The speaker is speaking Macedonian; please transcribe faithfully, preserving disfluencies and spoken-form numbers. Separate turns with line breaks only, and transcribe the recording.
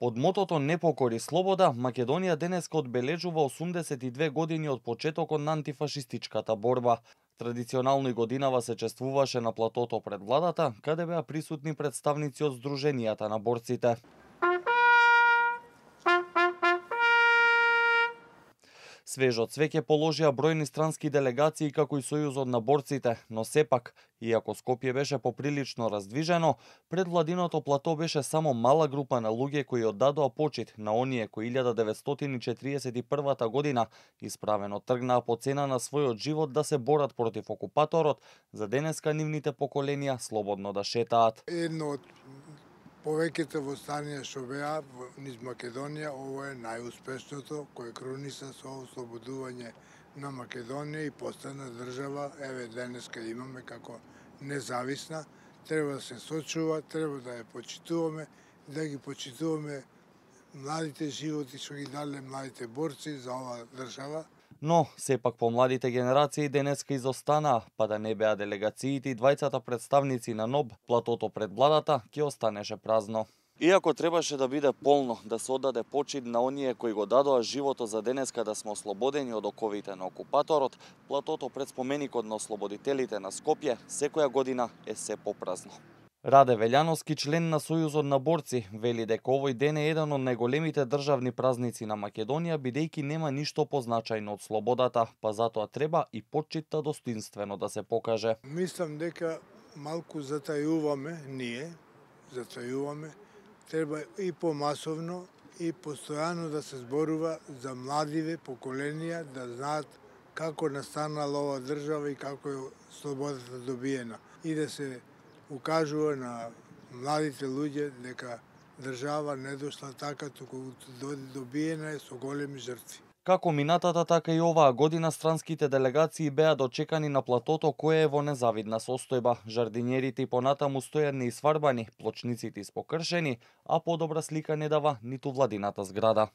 Под мотото "Не покори слобода", Македонија денеска одбележува осумдесет и две години од почетокот на антифашистичката борба. Традиционално и годинава се чествуваше на платото пред владата, каде беа присутни представници од здруженијата на борците. Свежо цвеќе положија бројни странски делегации како и Сојузот на борците, но сепак, иако Скопје беше поприлично раздвижено, пред владиното плато беше само мала група на луѓе кои оддадоа почит на оние кои илјада деветстотини и четириесет и првата година исправено тргнаа по цена на својот живот да се борат против окупаторот, за денеска нивните поколенија слободно да шетаат.
Едно од повеќето востанија што беа низ Македонија, ово е најуспешното кој круниса со ослободување на Македонија и постана држава, еве денеска имаме како независна. Треба да се сочува, треба да ја почитуваме, да ги почитуваме младите животи што ги дале младите борци за оваа држава.
Но, сепак помладите генерации денеска изостанаа, па да не беа делегациите и двајцата представници на НОБ, платото пред владата ќе останеше празно. Иако требаше да биде полно, да се оддаде почит на оние кои го дадоа животот за денеска да сме ослободени од оковите на окупаторот, платото пред споменикот на ослободителите на Скопје секоја година е се попразно. Раде Велјановски, член на Сојузот на борци, вели дека овој ден е еден од најголемите државни празници на Македонија, бидејќи нема ништо позначајно од слободата, па затоа треба и почитта достоинствено да се покаже.
Мислам дека малку затајуваме ние, затајуваме, треба и помасовно и постојано да се зборува за младиве поколенија да знаат како настанала оваа држава и како е слободата добиена и да се укажува на младите луѓе дека држава не дошла така, туку добиена е со големи жртви.
Како минатата, така и оваа година странските делегации беа дочекани на платото кое е во незавидна состојба. Жардинјерите и понатаму стојат неисфарбани, плочниците испокршени, а подобра слика не дава ниту владината зграда.